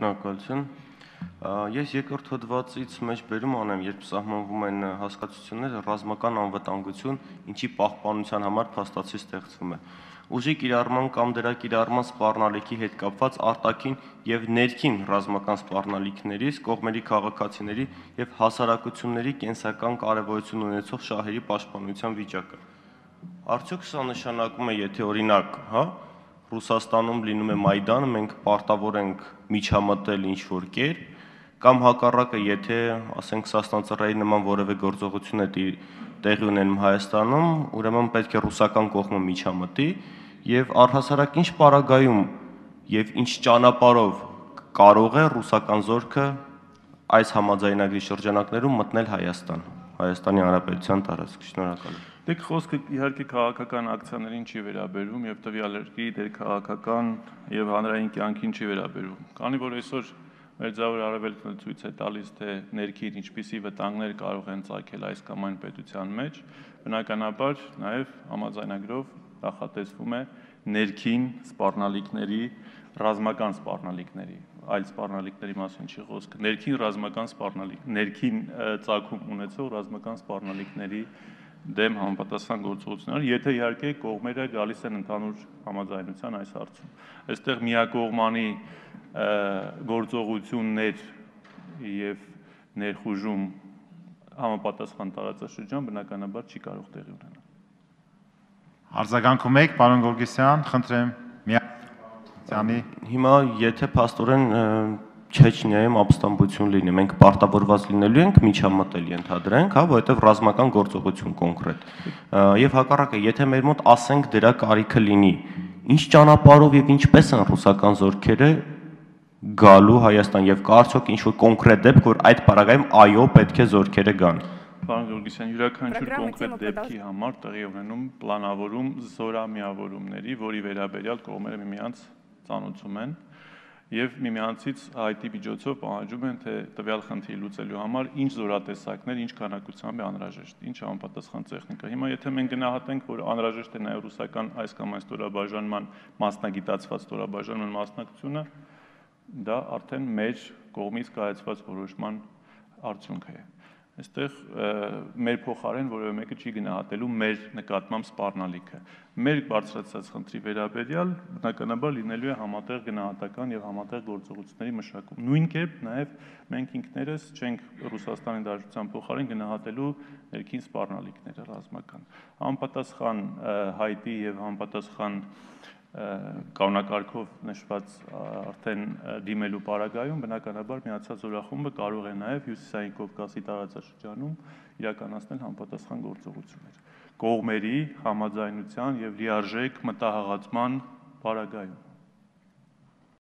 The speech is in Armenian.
Շնորհակալություն։ Ես երկրորդ հոդվածից մեջ բերում անեմ, երբ սահմանվում են հասկացությունները, ռազմական անվտանգություն, ինչի պահպանության համար փաստացի ստեղծվում է։ Ուժի կիրառման կամ դրա կիրառման սպառնալիքի հետ կապված արտաքին եւ ներքին ռազմական սպառնալիքներից, կողմերի քաղաքացիների եւ հասարակությունների կենսական կարեւորություն ունեցող շահերի պաշտպանության վիճակը։ Արդյոք սա նշանակում է, եթե օրինակ, Ռուսաստանում լինում է Մայդանը, մենք պարտավոր ենք միջամտել ինչ-որ կերպ, կամ հակառակը, եթե, ասենք, Սասնածռայի նման որևէ գործողություն է տեղի ունենում Հայաստանում, ուրեմն պետք է ռուսական կողմը միջամտի եւ առհասարակ ինչ պարագայում եւ ինչ ճանապարհով կարող է ռուսական զորքը այս համաձայնագրի շրջանակներում մտնել Հայաստանի Հանրապետության տարածք։ Շնորհակալ եմ։ Դեք խոսքը իհարկե քաղաքական ակցիաներին չի վերաբերում եւ տվյալ երկրի դեր քաղաքական եւ հանրային կյանքին չի վերաբերում։ Քանի որ այսօր Մերձավոր Արևելքը ցույց է տալիս, թե ներքին ինչպիսի վտանգներ կարող են ծագել այս կամ այն պետության մեջ, բնականաբար նաեւ համաձայնագրով նախատեսվում է ներքին սպառնալիքների, ռազմական սպառնալիքների, այլ սպառնալիքների մասին չի խոսքը, ներքին ռազմական սպառնալիք, ներքին ծագում ունեցող ռազմական սպառնալիքների դեմ համապատասխան գործողություններ, եթե իհարկե կողմերը գալիս են ընդհանուր համաձայնության այս հարցում։ Այստեղ միակողմանի գործողություններ եւ ներխուժում համապատասխան տարածաշրջան բնականաբար չի կարող տեղի ունենալ։ Արձագանքում եք, պարոն Գորգիսյան, խնդրեմ, Հիմա եթե փաստորեն Չեչնիայում ապստամբություն լինի, մենք պարտավորված լինելու ենք միջամտել, ենթադրենք, որովհետև ռազմական գործողություն կոնկրետ։ Եվ հակառակը, եթե մեր մոտ ասենք դրա կարիքը լինի, ինչ ճանապարհով եւ ինչպես են ռուսական զորքերը գալու Հայաստան եւ կա արդյոք ինչ-որ կոնկրետ դեպք, որ այդ պարագայում այո, պետք է զորքերը գան։ Պարոն Գորգիսյան, յուրաքանչյուր կոնկրետ դեպքի համար տեղի ունենում պլանավորում զորամիավորումների, որի վերաբերյալ կողմերը միմյանց ծանոթում են եւ միմյանցից հայտի միջոցով պահանջում են, թե տվյալ խնդիրը լուծելու համար ինչ զորատեսակներ, ինչ քանակությամբ է անհրաժեշտ, ինչ համապատասխան տեխնիկա։ Հիմա եթե մենք գնահատենք, որ անհրաժեշտ է նաեւ ռուսական այս կամ այն ստորաբաժանման մասնագիտացված ստորաբաժանման մասնակցությունը, դա արդեն մեր կողմից կայացված որոշման արդյունք է։ Այստեղ մեր փոխարեն որևէ մեկը չի գնահատելու մեր նկատմամբ սպառնալիքը։ Մեր բարձրացած խնդրի վերաբերյալ բնականաբար լինելու է համատեղ գնահատական եւ համատեղ գործողությունների մշակում։ Նույն կերպ նաեւ մենք ինքներս չենք Ռուսաստանի Դաշնության փոխարեն գնահատելու ներքին սպառնալիքները ռազմական։ Համապատասխան հայտի եւ համապատասխան կանոնակարգով նշված արդեն դիմելու պարագայում բնականաբար միացած զորախումբը կարող է նաև Հյուսիսային Կովկասի տարածաշրջանում իրականացնել համապատասխան գործողություններ կողմերի համաձայնության եւ լիարժեք մտահղացման պարագայում։